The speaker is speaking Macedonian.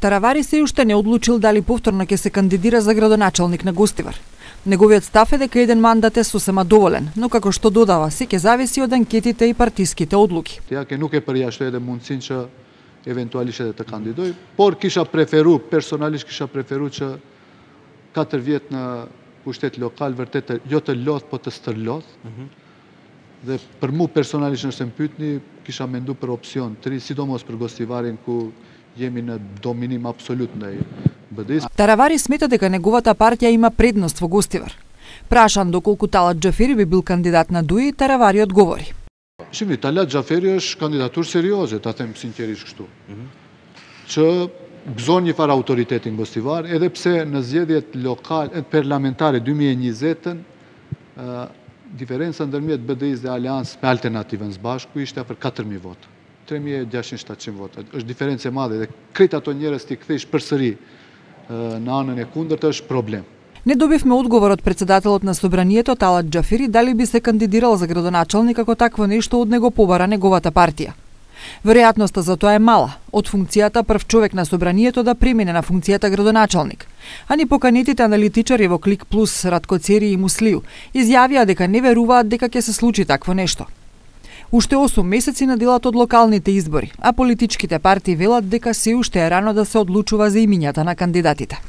Таравари се уште не одлучил дали повторно ќе се кандидира за градоначалник на Гостивар. Неговиот став е дека еден мандат е сосема доволен, но како што додава, се ќе зависи од анкетите и партиските одлуки. Ја ке nuk e përjashtoj edhe mundësinë që eventualisht edhe të kandidoj, por kisha preferu, personalisht kisha preferu që 4 vjet në pushtet lokal vërtet jo të lodh, po të stërlodh. Dhe për mu personalisht nëse më pyetni, kisha mendu për opsion 3, sidomos për Gostivarin ku jemi në dominim absolut ndaj BD-s. Таравари смета дека неговата партија има предност во Гостивар. Прашан доколку Талат Џафери би бил кандидат на ДУИ, Таравари одговори. Shimni, Talat Џафери është kandidaturë serioze, ta them sinqerisht kështu. Që gëzon një farë autoritetin Gostivar, edhe pse në zgjedhjet lokale parlamentare 2020-ën diferenca ndërmjet BD-s dhe Aleancës me Alternativën së Bashku ishte afër 4000 votë. 3600-700 vota. Është diferencë e madhe dhe krejt ato njerëz ti kthesh përsëri në anën e kundërt është problem. Не добивме одговор од председателот на собранието Талат Џафери дали би се кандидирал за градоначалник ако такво нешто од него побара неговата партија. Веројатноста за тоа е мала, од функцијата прв човек на собранието да премине на функцијата градоначалник. А ни поканетите аналитичари во Клик Плюс, Ратко Цери и Муслију изјавија дека не веруваат дека ќе се случи такво нешто. Уште 8 месеци наделат од локалните избори, а политичките партии велат дека се уште е рано да се одлучува за имињата на кандидатите.